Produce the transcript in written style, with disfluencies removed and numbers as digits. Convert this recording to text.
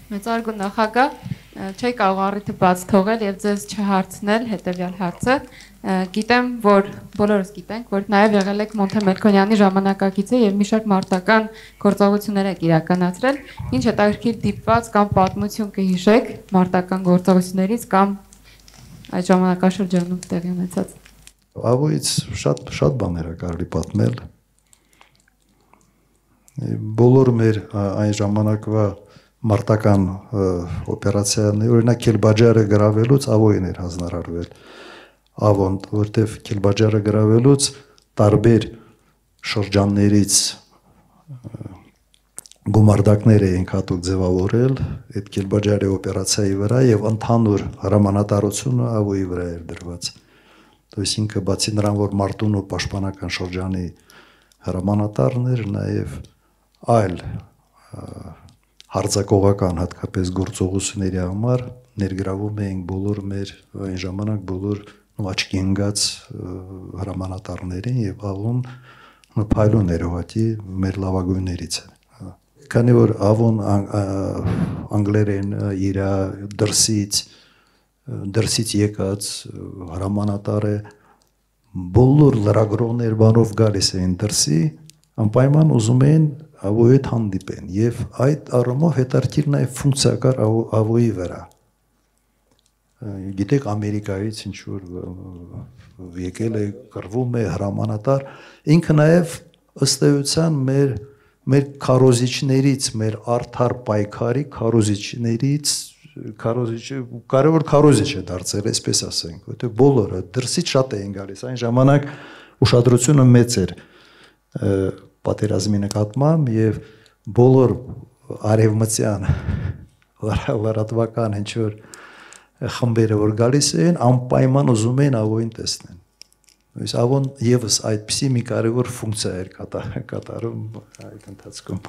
Մեծարգո նախագահ, չի կարող առիթը բաց թողել եւ ձեզ չհարցնել հետեւյալ հարցը։ Գիտեմ, որ բոլորս գիտենք, որ նաեւ եղել եք Մոնթե Մելքոնյանի ժամանակակիցը եւ մի շարք մարտական գործողություններ եք իրականացրել։ Ինչ հետաքրքիր դիպված կամ պատմություն կհիշեք մարտական գործողություններից կամ այդ ժամանակաշրջանում տեղի ունեցած։ Ավոյից շատ բաներ է կարելի պատմել։ Բոլոր մեր այն ժամանակվա մարտական օպերացիաներ, օրինակ Քելբաջարը գրավելուց Ավոյին էր հանձնարարվել Ավոն, որտեվ Քելբաջարը գրավելուց տարբեր շրջաններից գումարտակներ էինք հատուկ ձևավորել այդ Քելբաջարի օպերացիայի վրա եւ ընդհանուր հրամանատարությունը Ավոյի վրա էր դրված։ Այսինքն բացի նրան, որ մարտուն ու պաշտպանական շրջանի հրամանատարն էր, նաեւ այլ հարձակողական հատկապես գործողությունների համար ներգրավում էինք բոլոր մեր այն ժամանակ բոլոր աչքի ընկած հրամանատարներին եւ Ավոն փայլուն էր ուղղակի մեր լավագույններից է։ Քանի որ Ավոն անգլերեն իր դրսից եկած հրամանատար է, բոլոր լրագրողներ բանով գալիս էին դրսի, անպայման ուզում էին Ավոյի հետ հանդիպեն եւ այդ առումով հետաքրքիր նաեւ ֆունկցիա կար Ավոյի վրա։ Գիտեք Ամերիկայից ինչ որ եկել է, կռվում է հրամանատար, ինքը նաեւ ըստ էության մեր քարոզիչներից, մեր արդար պայքարի քարոզիչներից կարևոր քարոզիչ է դարձել, այսպես ասենք, որտեղ բոլորը դրսից շատ էին գալիս, այն ժամանակ ուշադրությունը մեծ էր պատերազմի նկատմամբ եւ բոլոր արևմտյան լրատվական ինչ որ խմբերը որ գալիս էին, անպայման ուզում էին Ավոյին տեսնեն։ Այս Ավոն եւս այդպիսի մի կարևոր ֆունկցիա էր կատարում այդ ընթացքում։